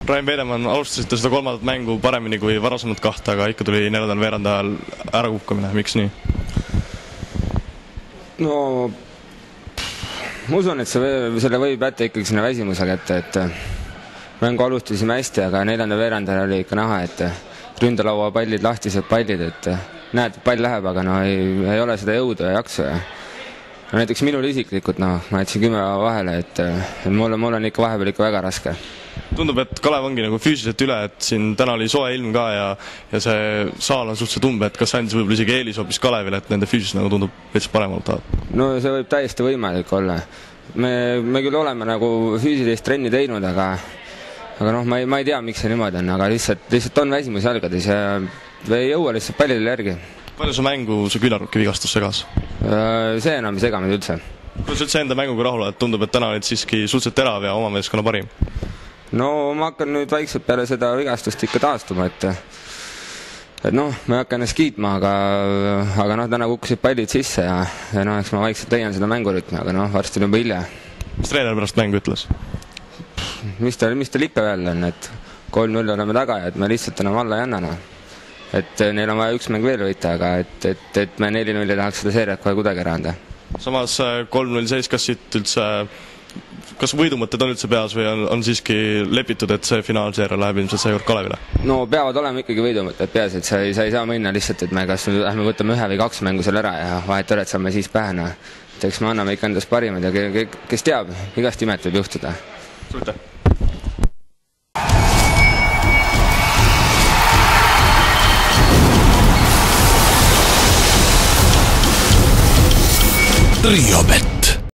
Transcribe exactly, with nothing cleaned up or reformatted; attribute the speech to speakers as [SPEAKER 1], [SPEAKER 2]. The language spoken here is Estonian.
[SPEAKER 1] Rain Veedemann, alustasite seda kolmandat mängu paremini kui varasemalt kahte, aga ikka tuli neljandal veerand ajal ära kukkamine. Miks nii?
[SPEAKER 2] No ma usun, et see, selle võib jätta ikkagi sinna väsimuse kätte, et mängu alustasime hästi, aga neljanda veerandal oli ikka näha, et ründalaua pallid, lahtised pallid, et näed, pall läheb, aga no ei, ei ole seda jõudu ja jaksu. Ja no näiteks minul isiklikult, no, ma jätsin kümme vahele, et, et mul, mul on ikka vahepeal ikka väga raske.
[SPEAKER 1] Tundub, et Kalev ongi nagu füüsiliselt üle, et siin täna oli soe ilm ka ja, ja see saal on suhteliselt umbe, et kas andis võib-olla isegi eelis hoopis Kalevile, et nende füüsis nagu tundub veits paremalt tahab?
[SPEAKER 2] No see võib täiesti võimalik olla. Me, me küll oleme nagu füüsilist trenni teinud, aga aga noh, ma ei, ma ei tea, miks see niimoodi on, aga lihtsalt, lihtsalt on väsimus jalgades ja ei jõua lihtsalt pallidele järgi.
[SPEAKER 1] Palju su mängu see küünarnuki vigastus segas?
[SPEAKER 2] See enam ei sega meid üldse.
[SPEAKER 1] Kuidas üldse enda mänguga rahul, et tundub, et täna olid siiski suhteliselt terav ja oma meeskonna parim?
[SPEAKER 2] No ma hakkan nüüd vaikselt peale seda vigastust ikka taastuma, et et noh, ma ei hakka ennast kiitma, aga, aga noh, täna kukkusid pallid sisse ja, ja noh, eks ma vaikselt leian seda mängurütmi, aga noh, varsti on juba hilja.
[SPEAKER 1] Mis treener pärast mängu ütles?
[SPEAKER 2] Mis ta, mis ta ikka veel on, et kolm null oleme taga ja et me lihtsalt enam alla ei anna. No. Et neil on vaja üks mäng veel võita, aga et, et, et me neli null ei tahaks seda seeriat kohe kuidagi ära anda.
[SPEAKER 1] Samas kolm null seis, kas siit üldse, kas võidumõtted on üldse peas või on, on siiski lepitud, et see finaalseeria läheb ilmselt seekord Kalevile? No
[SPEAKER 2] peavad olema ikkagi võidumõtted peas, et sa ei, sa ei saa minna lihtsalt, et me kas lähme võtame ühe või kaks mängu seal ära ja vahet üle, et saame siis pähe. No. Et eks me anname ikka endast parimad ja kes teab, igast imet võib juhtuda.
[SPEAKER 1] Suite!
[SPEAKER 3] Riobet.